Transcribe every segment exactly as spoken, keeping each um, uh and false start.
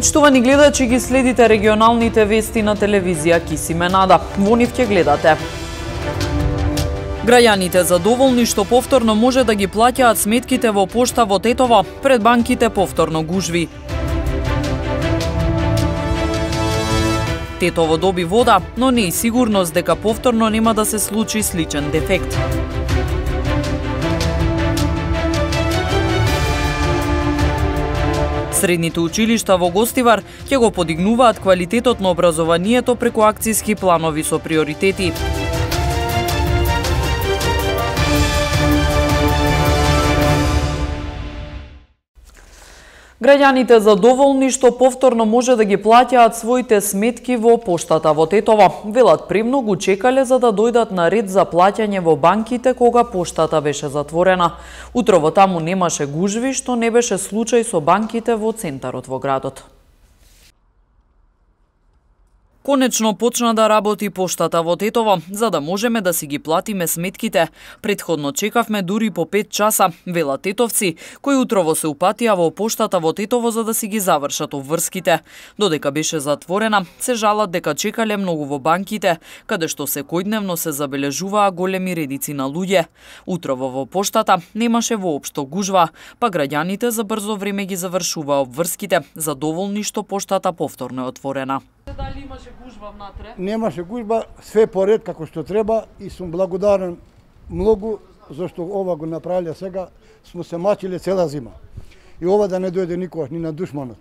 Почитувани гледачи, ги следите регионалните вести на телевизија Кисиме Нада. Во нив ќе гледате: граѓаните задоволни што повторно може да ги плаќаат сметките во пошта во Тетово, пред банките повторно гужви. Тетово доби вода, но не и сигурност дека повторно нема да се случи сличен дефект. Средните училишта во Гостивар ќе го подигнуваат квалитетот на образованието преку акцијски планови со приоритети. Граѓаните задоволни што повторно може да ги плаќаат своите сметки во поштата во Тетово. Велат премногу чекале за да дојдат на ред за плаќање во банките кога поштата беше затворена. Утрово таму немаше гужви, што не беше случај со банките во центарот во градот. Конечно почна да работи поштата во Тетово, за да можеме да си ги платиме сметките. Претходно чекавме дури по пет часа, велат тетовци, кои утрово се упатија во поштата во Тетово за да си ги завршат обврските. Додека беше затворена, се жалат дека чекале многу во банките, каде што секојдневно се забележуваа големи редици на луѓе. Утрово во поштата немаше воопшто гужва, па граѓаните за брзо време ги завршуваа обврските, задоволни што поштата повторно е отворена. Дали имаше гужба внатре? Немаше гужба, све поред како што треба и сум благодарен многу зашто ова го направиле сега, смо се мачиле цела зима. И ова да не дојде никогаш ни на душманот.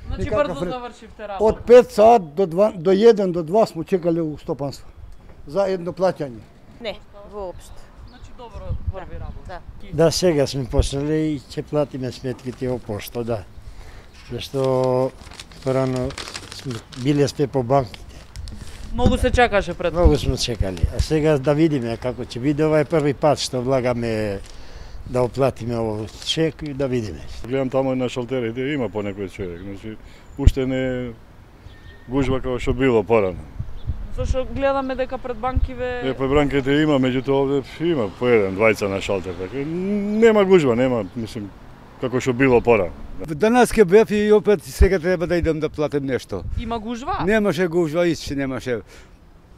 Значи брзо завршивте работа. Од пет саат до два, до еден до два смо чекале у стопанство за едно плаќање. Не, воопшто. Значи добро врви работа. Да, сега сме почнале и ќе платиме сметките во пошто, да. Зашто порано биле сме по банките. Многу се чекаше пред. Многу сме чекали. А сега да видиме како ќе биде. Ова е први пат што влагаме да оплатиме овој чек и да видиме. Гледам таму на шалтерите, има по некој човек. Значи, уште не гужва како што било порано. Зашто гледаме дека пред банкиве... Е, пред банките има, меѓутоа овде има по еден, двајца на шалтер. Така. Нема гужва, нема, мислим, како што било порано. Данас ке бев и опет сега треба да идам да платим нешто. Има гужва? Немаше гужва, исти немаше.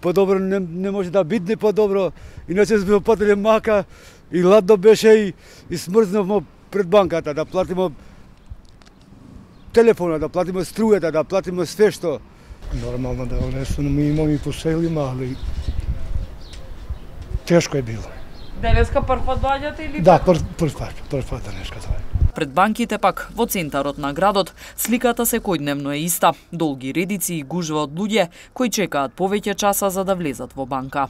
Подобро не, не може да бидне подобро. Иначе сме платиле мака и ладно беше и, и смрзнавме пред банката да платиме телефона, да платиме струјата, да платиме све што. Нормално да внесено ми имам и по селима, али тешко е било. Денеска прв пат доаѓате или? Да, прв, прв пат, прв пат денеска тоа. Пред банките пак, во центарот на градот, сликата секојдневно е иста. Долги редици и гужва од луѓе кои чекаат повеќе часа за да влезат во банка.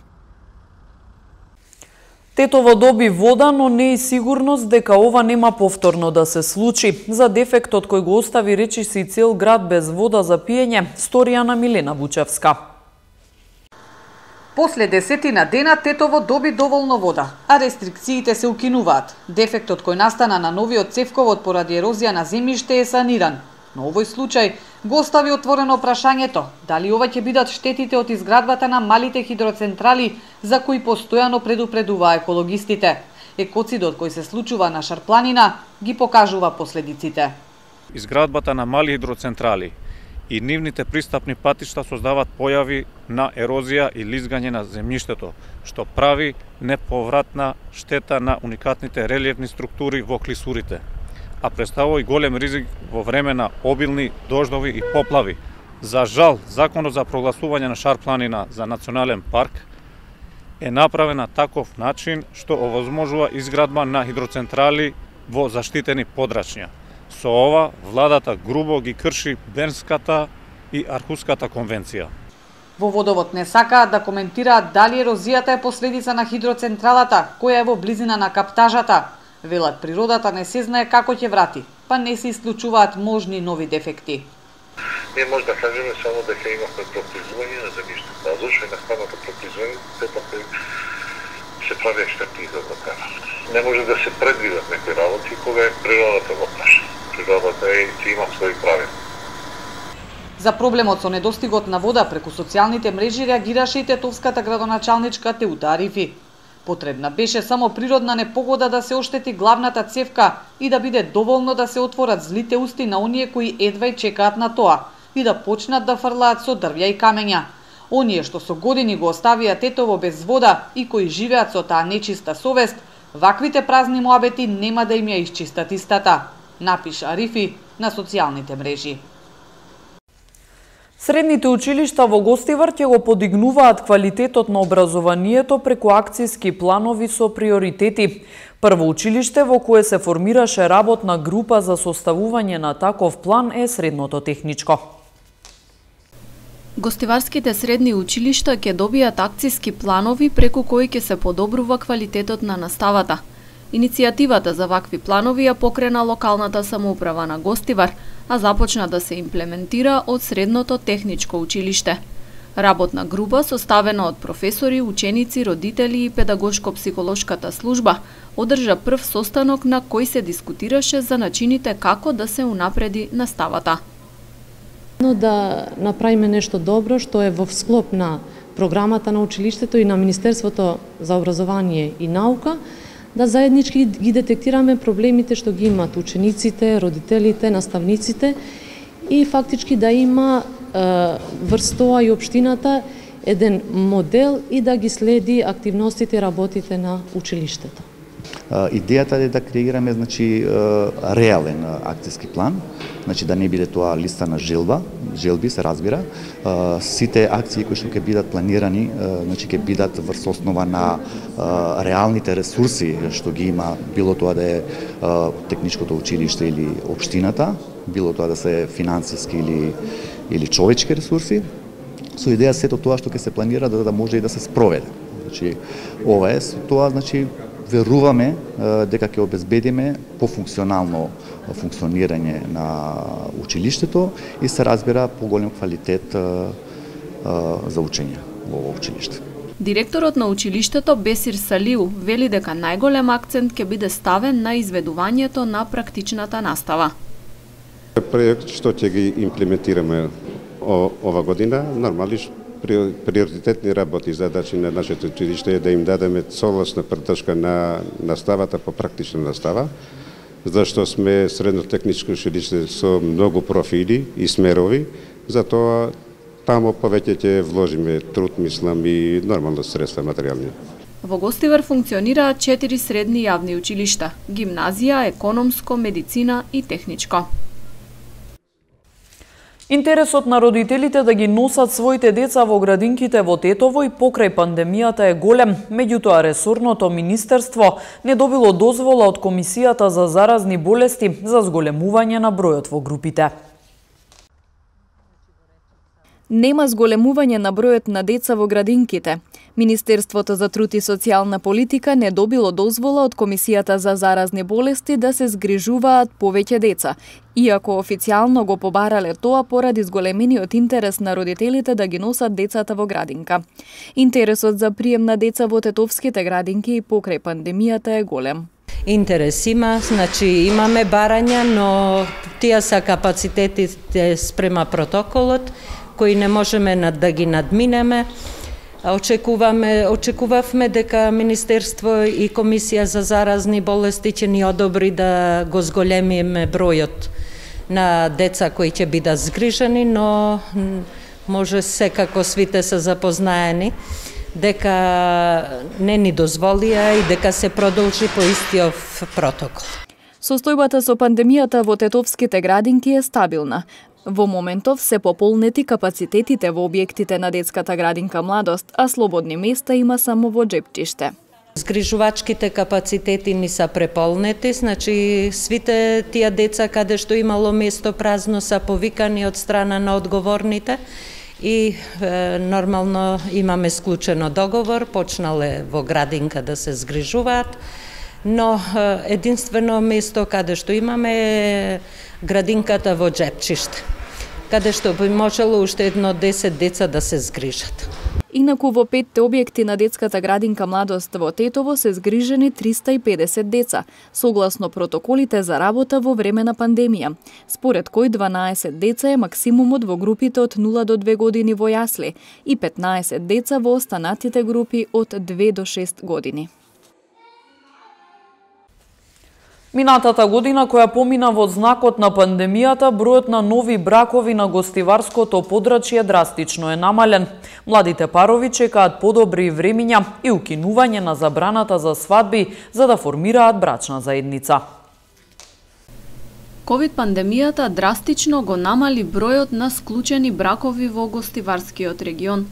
Тетово доби вода, но не и сигурност дека ова нема повторно да се случи. За дефектот кој го остави речиси цел град без вода за пиење, сторија на Милена Вучевска. После десетина дена Тетово доби доволно вода, а рестрикциите се укинуваат. Дефектот кој настана на новиот цевковод поради ерозија на земјиште е саниран. Но овој случај го остави отворено прашањето дали ова ќе бидат штетите од изградбата на малите хидроцентрали за кои постојано предупредуваа екологистите. Екоцидот кој се случува на Шарпланина ги покажува последиците. Изградбата на мали хидроцентрали и нивните пристапни патишта создаваат појави на ерозија и лизгање на земјиштето, што прави неповратна штета на уникатните релиефни структури во клисурите, а представува и голем ризик во време на обилни дождови и поплави. За жал, законот за прогласување на Шарпланина за национален парк е направен на таков начин што овозможува изградба на хидроцентрали во заштитени подрачња. Со ова, владата грубо ги крши Бернската и Архуската конвенција. Во водовод не сакаат да коментираат дали ерозијата е последица на хидроцентралата, која е во близина на каптажата. Велат природата не се знае како ќе врати, па не се исклучуваат можни нови дефекти. Ние може да кажеме само дека имавме проклизување на земјиштето, а зашто и на самото проклизување сепак се прави експертиза за тоа. Не може да се предвидат некои работи кога е природата во праша. Природата е и има своји правила. За проблемот со недостигот на вода преку социјалните мрежи реагираше и тетовската градоначалничка Теута Арифи. Потребна беше само природна непогода да се оштети главната цевка и да биде доволно да се отворат злите усти на оние кои едва и чекаат на тоа и да почнат да фрлаат со дрвја и камења. Оние што со години го оставија Тетово без вода и кои живеат со таа нечиста совест, ваквите празни муабети нема да им ја исчистат истата, напиша Арифи на социјалните мрежи. Средните училишта во Гостивар ќе го подигнуваат квалитетот на образованието преку акцијски планови со приоритети. Прво училиште во кое се формираше работна група за составување на таков план е средното техничко. Гостиварските средни училишта ќе добијат акцијски планови преку кои ќе се подобрува квалитетот на наставата. Иницијативата за вакви планови ја покрена локалната самоуправа на Гостивар, а започна да се имплементира од Средното техничко училиште. Работна група составена од професори, ученици, родители и педагошко-психолошката служба одржа прв состанок на кој се дискутираше за начините како да се унапреди наставата. Но да направиме нешто добро што е во склоп на програмата на училиштето и на Министерството за образование и наука, да заеднички ги детектираме проблемите што ги имат учениците, родителите, наставниците и фактички да има е, врз тоа и општината еден модел и да ги следи активностите и работите на училиштето. Идејата е да креираме, значи, реален акцијски план, значи да не биде тоа листа на желба, желби се разбира. Сите акции кои што ќе бидат планирани, значи ќе бидат врз основа на реалните ресурси што ги има, било тоа да е техничкото училиште или општината, било тоа да се финансиски или или човечки ресурси, со идеја сето тоа што ќе се планира да, да може и да се спроведе. Значи ова е со тоа, значи веруваме дека ќе обезбедиме пофункционално функционирање на училиштето и се разбира поголем квалитет за учење во ово училиште. Директорот на училиштето Бесир Салиу вели дека најголем акцент ќе биде ставен на изведувањето на практичната настава. Проект што ќе ги имплементираме ова година, нормално приоритетни работи и задачи на нашето училиште е да им дадеме целосна поддршка на наставата по практична настава, зашто сме средно техничко училиште со многу профили и смерови, затоа таму повеќе ќе вложиме труд, мислам, и нормално средства материјални. Во Гостивар функционираат четири средни јавни училишта: гимназија, економско, медицина и техничко. Интересот на родителите да ги носат своите деца во градинките во Тетово и покрај пандемијата е голем, меѓутоа ресорното министерство не добило дозвола од Комисијата за заразни болести за зголемување на бројот во групите. Нема зголемување на бројот на деца во градинките. Министерството за труд и социјална политика не добило дозвола од Комисијата за заразни болести да се згрижуваат повеќе деца, иако официјално го побарале тоа поради зголемениот интерес на родителите да ги носат децата во градинка. Интересот за прием на деца во тетовските градинки и покрај пандемијата е голем. Интерес има, значи имаме барања, но тие се капацитетите спрема протоколот, кои не можеме да ги надминеме. Очекуваме, очекувавме дека Министерство и Комисија за заразни болести ќе ни одобри да го зголемиме бројот на деца кои ќе бидат згрижени, но може секако свите се запознаени дека не ни дозволија и дека се продолжи по истиот протокол. Состојбата со пандемијата во тетовските градинки е стабилна. Во моментов се пополнети капацитетите во објектите на детската градинка Младост, а слободни места има само во Джепчиште. Згрижувачките капацитети ни са преполнети, значи свите тие деца каде што имало место празно са повикани од страна на одговорните и е, нормално имаме склучено договор, почнале во градинка да се згрижуваат, но е, единствено место каде што имаме е градинката во Джепчиште, каде што би можело уште едно десет деца да се згрижат. Инаку во петте објекти на детската градинка Младост во Тетово се згрижени триста и педесет деца, согласно протоколите за работа во време на пандемија, според кој дванаесет деца е максимумот во групите од нула до две години во јасли и петнаесет деца во останатите групи од две до шест години. Минатата година, која помина во знакот на пандемијата, бројот на нови бракови на гостиварското подрачје драстично е намален. Младите парови чекаат подобри времиња и укинување на забраната за свадби за да формираат брачна заедница. ковид пандемијата драстично го намали бројот на склучени бракови во гостиварскиот регион.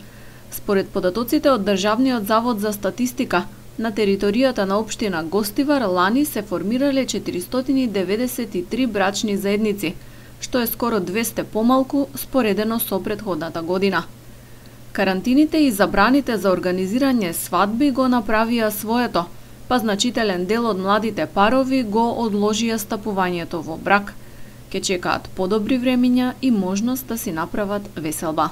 Според податоците од Државниот завод за статистика, на територијата на општина Гостивар лани се формирале четиристотини деведесет и три брачни заедници, што е скоро двесте помалку споредено со претходната година. Карантините и забраните за организирање свадби го направија своето, па значителен дел од младите парови го одложија стапувањето во брак. Ке чекаат подобри времиња и можност да си направат веселба.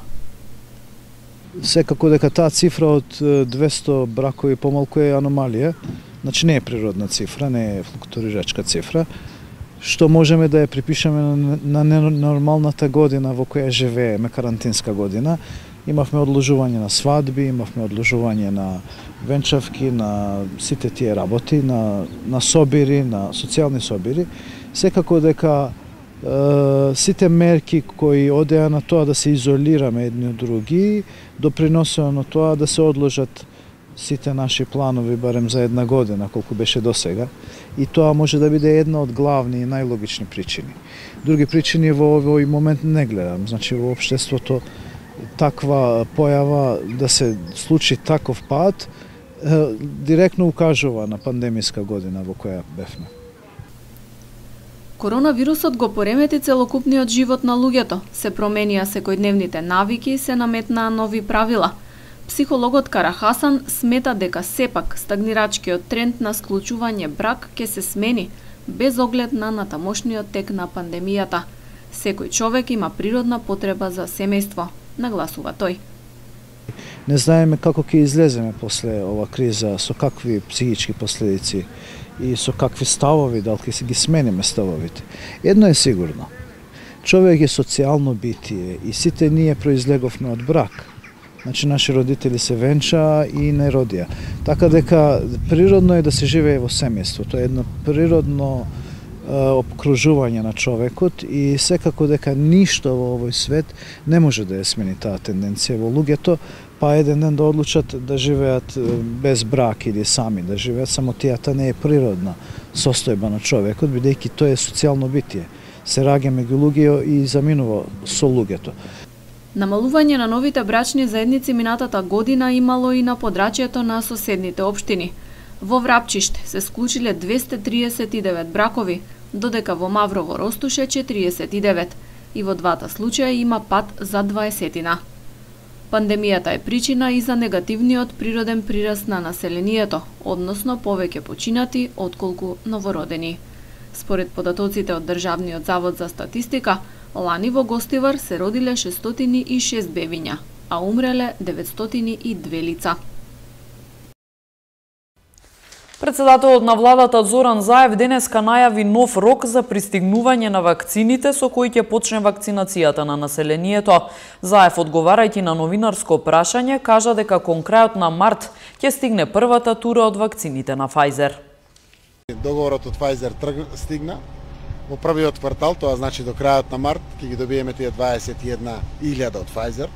Секако дека таа цифра од двесте бракови помалку е аномалија, значи не е природна цифра, не е флуктуирачка цифра, што можеме да ја припишеме на ненормалната година во која живееме, карантинска година. Имавме одложување на свадби, имавме одложување на венчавки, на сите тие работи, на, на собири, на социјални собири. Секако дека сите мерки кои одеа на тоа да се изолираме едни од други, доприносеа на тоа да се одложат сите наши планови барем за една година, колку беше досега. И тоа може да биде една од главни и најлогични причини. Други причини во овој момент не гледам. Значи во општеството таква појава да се случи таков пат директно укажува на пандемиска година во која бевме. Коронавирусот го поремети целокупниот живот на луѓето, се променија секојдневните навики и се наметнаа нови правила. Психологот Карахасан смета дека сепак стагнирачкиот тренд на склучување брак ќе се смени, без оглед на натамошниот тек на пандемијата. Секој човек има природна потреба за семејство, нагласува тој. Не знаеме како ќе излеземе после ова криза, со какви психички последици и со какви ставови, дали ќе се ги смениме ставовите. Едно е сигурно. Човек е социјално битие и сите ние произлеговме од брак. Значи, наши родители се венчаа и не родија. Така дека природно е да се живее во семејство. Тоа е едно природно е, обкружување на човекот и секако дека ништо во овој свет не може да ја смени таа тенденција во луѓето, па еден ден да одлучат да живеат без брак или сами да живеат, само тијата не е природна состојба на човекот, бидејќи тоа е социјално битие. Се раѓа меѓу луѓе и заминува со луѓето. Намалување на новите брачни заедници минатата година имало и на подрачјето на соседните општини. Во Врапчиште се склучиле двесте триесет и девет бракови, додека во Маврово ростуше четириесет и девет и во двата случаја има пат за дваесетина. Пандемијата е причина и за негативниот природен прираст на населението, односно повеќе починати отколку новородени. Според податоците од Државниот завод за статистика, лани во Гостивар се родиле шестстотини и шест бебиња, а умреле деветстотини и две лица. Председателот на владата Зоран Заев денеска најави нов рок за пристигнување на вакцините со кои ќе почне вакцинацијата на населението. Заев, одговарајќи на новинарско прашање, кажа дека кон крајот на март ќе стигне првата тура од вакцините на Pfizer. Договорот од Pfizer стигна во првиот квартал, тоа значи до крајот на март ќе ги добиеме тие дваесет и една илјада од Pfizer.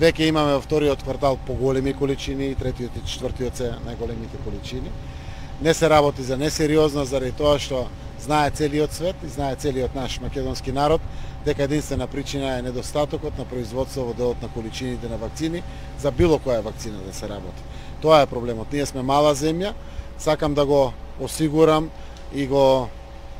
Веќе имаме во вториот квартал поголеми количини и третиот и четвртиот се најголемите количини. Не се работи за несериозно заради тоа што знае целиот свет и знае целиот наш македонски народ дека единствена причина е недостатокот на производство во делот на количините на вакцини за било која вакцина да се работи. Тоа е проблемот. Ние сме мала земја, сакам да го осигурам и го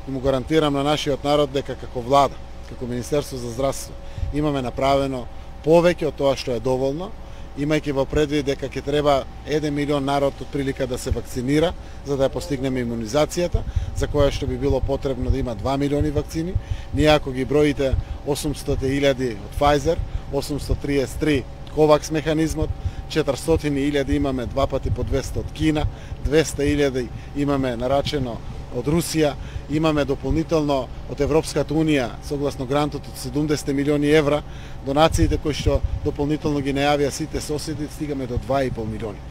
и му гарантирам на нашиот народ дека како влада, како Министерство за здравство имаме направено повеќе од тоа што е доволно, имајќи во предвид дека ќе треба еден милион народ од прилика да се вакцинира за да ја постигнеме имунизацијата, за која што би било потребно да има два милиони вакцини. Ние ако ги броите осумстотини илјади од Pfizer, осумстотриесет и три COVAX механизмот, четиристотини илјади имаме два пати по двесте од Кина, двесте илјади имаме нарачено од Русија, имаме дополнително од Европската унија, согласно грантот од седумдесет милиони евра, донациите кои што дополнително ги најавија сите соседи, стигаме до два и пол милиони.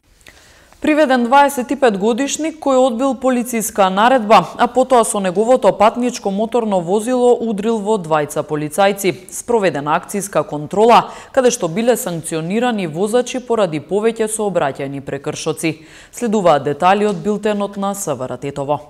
Приведен дваесет и пет годишник кој одбил полициска наредба, а потоа со неговото патничко моторно возило удрил во двајца полицајци. Спроведена акцијска контрола, каде што биле санкционирани возачи поради повеќе сообраќајни прекршоци. Следуваат детали од билтенот на СВР Тетово.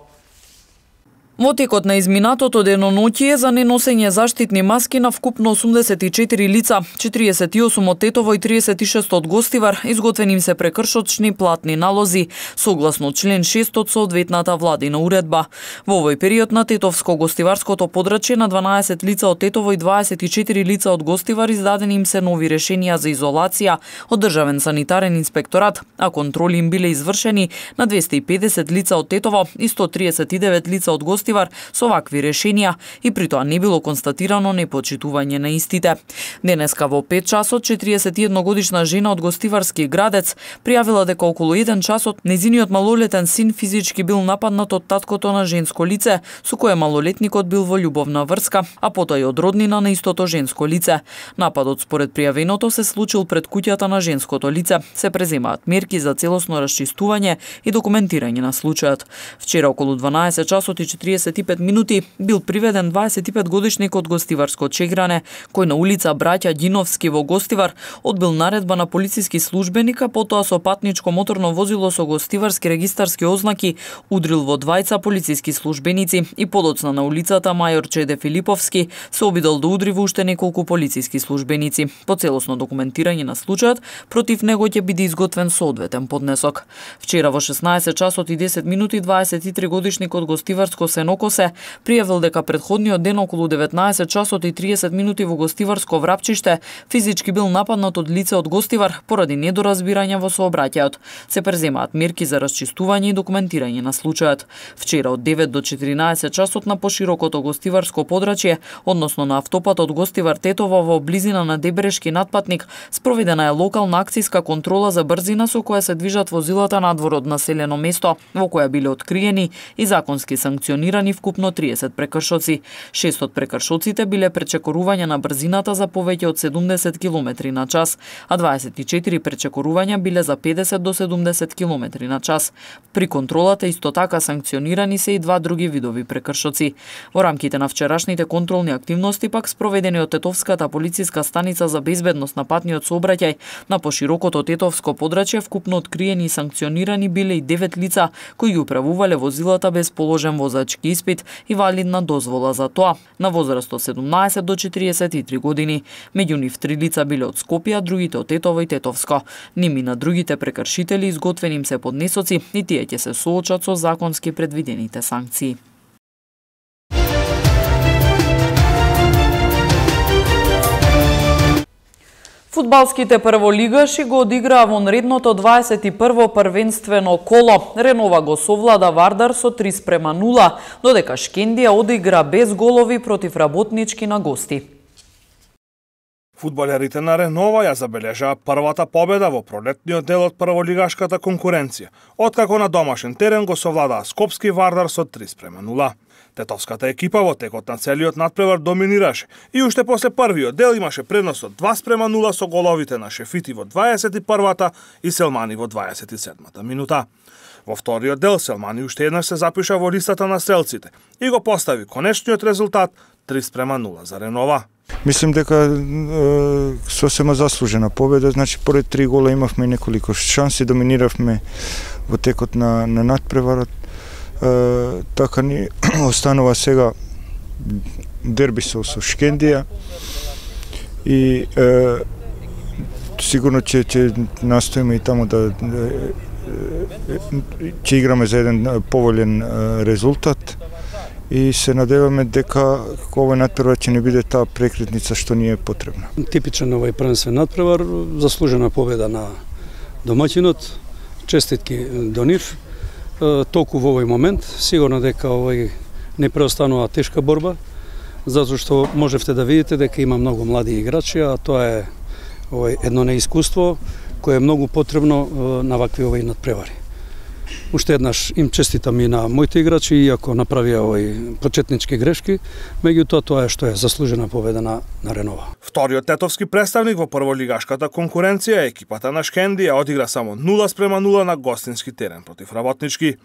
Во текот на изминатото деноноќие за неносење заштитни маски на вкупно осумдесет и четири лица, четириесет и осум од Тетово и триесет и шест од Гостивар, изготвени им се прекршочни платни налози, согласно член шест од соодветната владина уредба. Во овој период на Тетовско-Гостиварското подрачје на дванаесет лица од Тетово и дваесет и четири лица од Гостивар издадени им се нови решенија за изолација од Државен санитарен инспекторат, а контроли им биле извршени на двесте и педесет лица од Тетово и сто триесет и девет лица од Гостивар со вакви решенија и при тоа не било констатирано непочитување на истите. Денеска во пет часот четириесет и една годишна жена од Гостиварски Градец пријавила дека околу еден часот нејзиниот малолетен син физички бил нападнат од таткото на женско лице, со кое малолетникот бил во љубовна врска, а потоа и од роднина на истото женско лице. Нападот според пријавеното се случил пред куќата на женското лице. Се преземаат мерки за целосно расчистување и документирање на случајот. Вчера околу дванаесет часот и четириесет и пет минути бил приведен дваесет и пет годишник од Гостиварско Чегране, кој на улица Браќа Ѓиновски во Гостивар одбил наредба на полициски службеника, потоа со патничко моторно возило со гостиварски регистарски ознаки удрил во двајца полициски службеници и подоцна на улицата Мајор Чеде Филиповски се обидел да удри во уште неколку полициски службеници. По целосно документирање на случајот, против него ќе биде изготвен соодветен поднесок. Вчера во шеснаесет часот и десет минути дваесет и три годишник од Гостиварско Сенокосе пријавил дека предходниот ден околу деветнаесет часот и триесет минути во Гостиварско Врапчиште физички бил нападнат од лице од Гостивар поради недоразбирање во сообраќајот. Се преземаат мерки за расчистување и документирање на случајот. Вчера од девет до четиринаесет часот на поширокото Гостиварско подрачје, односно на автопатот Гостивар Тетово во близина на Дебрешки надпатник, спроведена е локална акцијска контрола за брзина со која се движат возилата надвор од населено место, во која биле откриени и законски санкционирани вкупно триесет прекршоци. Шест од прекршоците биле пречекорување на брзината за повеќе од седумдесет километри на час, а дваесет и четири пречекорувања биле за педесет до седумдесет километри на час. При контролата исто така санкционирани се и два други видови прекршоци. Во рамките на вчерашните контролни активности пак спроведени од Тетовската полициска станица за безбедност на патниот сообраќај на поширокото Тетовско подрачје вкупно откриени и санкционирани биле и девет лица кои ги управувале возилата без положен возачки испит и валидна дозвола за тоа, на возраст од седумнаесет до четириесет и три години. Меѓу нив три лица биле од Скопје, другите од Тетово и Тетовско. Ними на другите прекршители изготвени им се поднесоци и тие ќе се соочат со законски предвидените санкции. Фудбалските прволигаши го одиграа вонредното дваесет и прво првенствено коло. Ренова го совлада Вардар со три спрема нула, додека Шкендија одигра без голови против Работнички на гости. Фудбалерите на Ренова ја забележаа првата победа во пролетниот дел од прволигашката конкуренција, откако на домашен терен го совладаа Скопски Вардар со три спрема нула. Тетовската екипа во текот на целиот надпревар доминираше и уште после првиот дел имаше предност од два спрема нула со головите на Шефити во дваесет и првата и Селмани во дваесет и седмата минута. Во вториот дел Селмани уште еднаш се запиша во листата на стрелците и го постави конечниот резултат три спрема нула за Ренова. Мислим дека е, сосема заслужена победа, значи поред три гола имавме неколку шанси, доминиравме во текот на, на надпреварот. Е, така ни останува сега дерби со, со Шкендија и е, сигурно ќе ќе настоиме и таму да ќе играме за еден поволен резултат и се надеваме дека овој надпревар ќе не биде таа прекретница што ни е потребна. Типичен овој првенствен надпревар, заслужена победа на домаќинот, честитки до нив. Толку во овој момент, сигурно дека овој не преостанува тешка борба, затоа што можевте да видите дека има многу млади играчи, а тоа е овој едно неискуство кое е многу потребно на вакви овој надпревари. Уште еднаш им честитам и на моите играчи, иако направија овој почетнички грешки, меѓутоа тоа е што е заслужена победа на, на Ренова. Вториот тетовски представник во прволигашката конкуренција, екипата на Шкендија одигра само нула спрема нула на гостински терен против Работнички.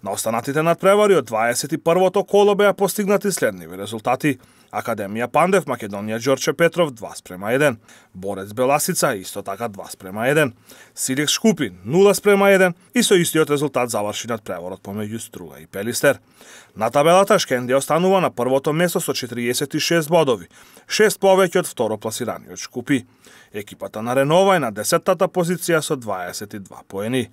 На останатите надпревари од дваесет и првото коло беа постигнати следниви резултати. Академија Пандев, Македонија Ѓорче Петров два спрема еден, Борец Беласица исто така два спрема еден, Силекс Шкупин нула спрема еден и со истиот резултат заврши надпреворот помеѓу Струга и Пелистер. На табелата Шкендија останува на првото место со четириесет и шест бодови, шест повеќе од второпласираниот Шкупи. Екипата на Ренова е на десеттата позиција со дваесет и два поени.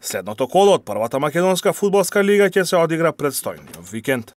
Следното коло од првата македонска фудбалска лига ќе се одигра предстојниот викенд.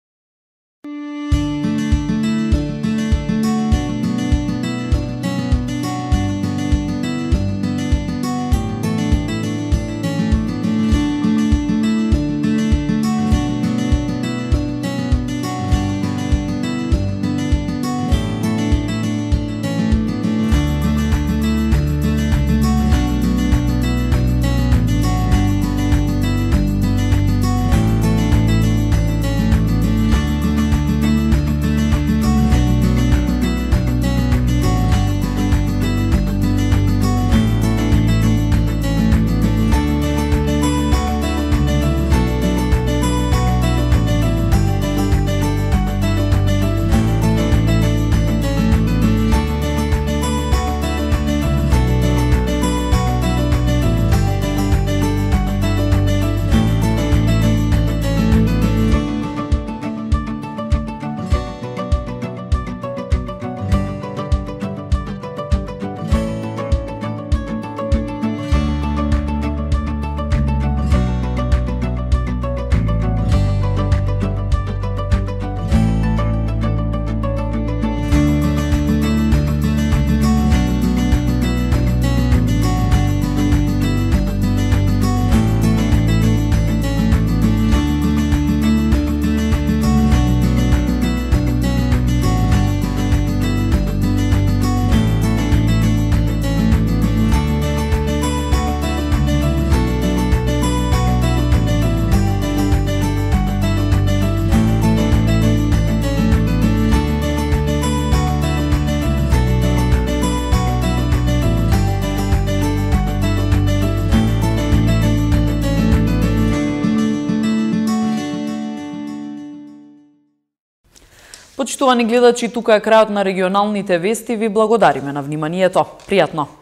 Почитувани гледачи, тука е крајот на регионалните вести. Ви благодариме на вниманието. Пријатно!